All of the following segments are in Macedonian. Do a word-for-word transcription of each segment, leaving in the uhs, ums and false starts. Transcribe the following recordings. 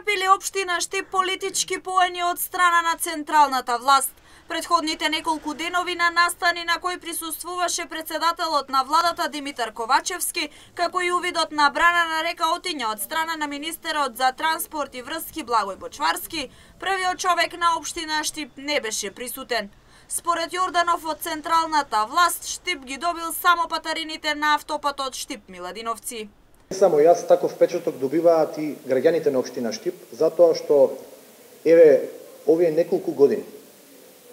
трпели општина Штип политички поени од страна на централната власт. Предходните неколку денови на настани на кои присуствуваше председателот на владата Димитар Ковачевски, како и увидот на брана на река Отиња од страна на министерот за транспорт и врски Благој Бочварски, првиот човек на општина Штип не беше присутен. Според Јорданов од централната власт, Штип ги добил само патарините на автопатот Штип-Миладиновци. Не само јас, таков впечаток добиваат и граѓаните на општина Штип, затоа што еве овие неколку години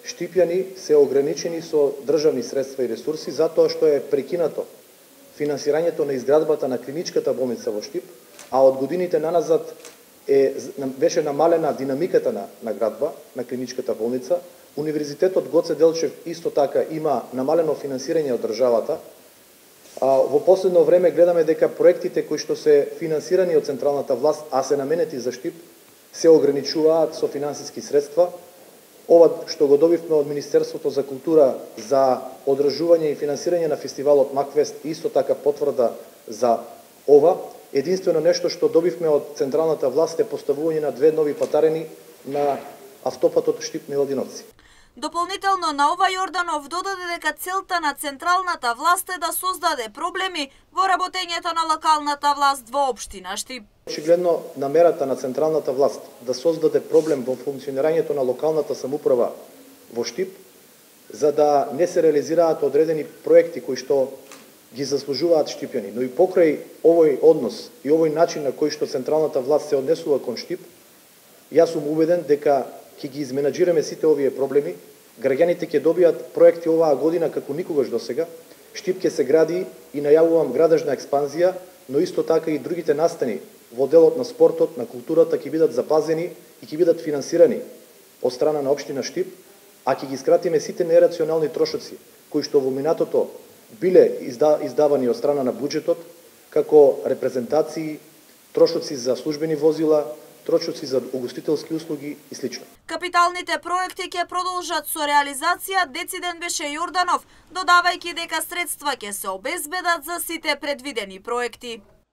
Штипјани се ограничени со државни средства и ресурси затоа што е прекинато финансирањето на изградбата на клиничката болница во Штип, а од годините наназад е беше намалена динамиката на на градба на клиничката болница. Универзитетот Гоце Делчев исто така има намалено финансирање од државата. А, во последно време гледаме дека проектите кои што се финансирани од централната власт, а се наменети за Штип, се ограничуваат со финансиски средства. Ова што го добивме од Министерството за култура за одржување и финансирање на фестивалот Макфест, исто така потврда за ова. Единствено нешто што добивме од централната власт е поставување на две нови патарени на автопатот Штип-Миладиновци. Дополнително на ова Јорданов додаде дека целта на централната власт е да создаде проблеми во работењето на локалната власт во општина Штип. Очигледно намерата на централната власт да создаде проблем во функционирањето на локалната самоуправа во Штип, за да не се реализираат одредени проекти кои што ги заслужуваат штипјани, но и покрај овој однос и овој начин на кој што централната власт се однесува кон Штип, јас сум убеден дека ќе ги изменаџираме сите овие проблеми, граѓаните ќе добијат проекти оваа година како никогаш досега, Штип ќе се гради и најавувам градежна експанзија, но исто така и другите настани во делот на спортот, на културата ќе бидат запазени и ќе бидат финансирани од страна на општина Штип, а ќе ги скратиме сите нерационални трошоци кои што во минатото биле издавани од страна на буџетот, како репрезентации, трошоци за службени возила, трошоци за угостителски услуги и слично. Капиталните проекти ќе продолжат со реализација, дециден беше Јорданов, додавајќи дека средства ќе се обезбедат за сите предвидени проекти.